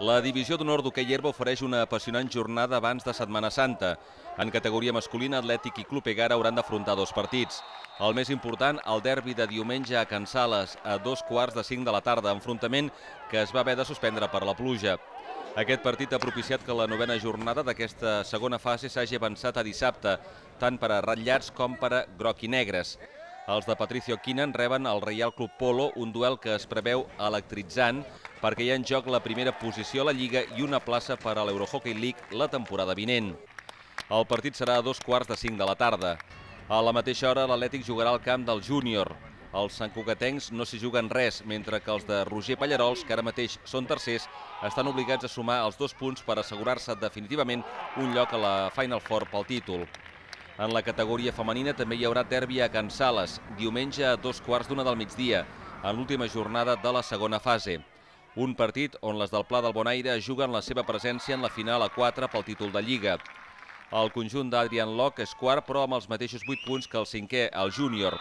La divisió d'honor d'hoquei herba ofereix una apassionant jornada abans de Setmana Santa. En categoria masculina, Atlètic i Club Egara hauran d'afrontar dos partits. El més important, el derbi de diumenge a Can Sales, a 2:45 de la tarda, enfrontament que es va haver de suspendre per la pluja. Aquest partit ha propiciat que la novena jornada d'aquesta segona fase s'hagi avançat a dissabte, tant per a ratllats com per a groc i negres. Els de Patricio Quinan reben el Reial Club Polo, un duel que es preveu electritzant perquè hi ha en joc la primera posició a la Lliga i una plaça per a l'Eurohockey League la temporada vinent. El partit serà a 2:45 de la tarda. A la mateixa hora, l'Atlètic jugarà al camp del Júnior. Els santcugatencs no s'hi juguen res, mentre que els de Roger Pallarols, que ara mateix són tercers, estan obligats a sumar els 2 punts per assegurar-se definitivament un lloc a la Final Four pel títol. En la categoria femenina també hi haurà derbi a Can Sales, diumenge a 2:15 del migdia, en l'última jornada de la segona fase. Un partit on les del Pla del Bonaire juguen la seva presència en la final a 4 pel títol de Lliga. El conjunt d'Adrian Locke és quart, però amb els mateixos 8 punts que el cinquè, el Júnior.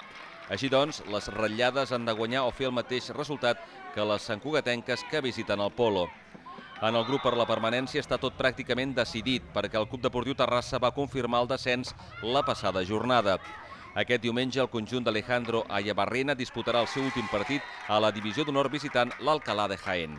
Així doncs, les ratllades han de guanyar o fer el mateix resultat que les santcugatenques que visiten el Polo. En el grup per la permanència està tot pràcticament decidit perquè el Club Deportiu Terrassa va confirmar el descens la passada jornada. Aquest diumenge el conjunt d'Alejandro Ayabarrena disputarà el seu últim partit a la divisió d'honor visitant l'Alcalá de Jaén.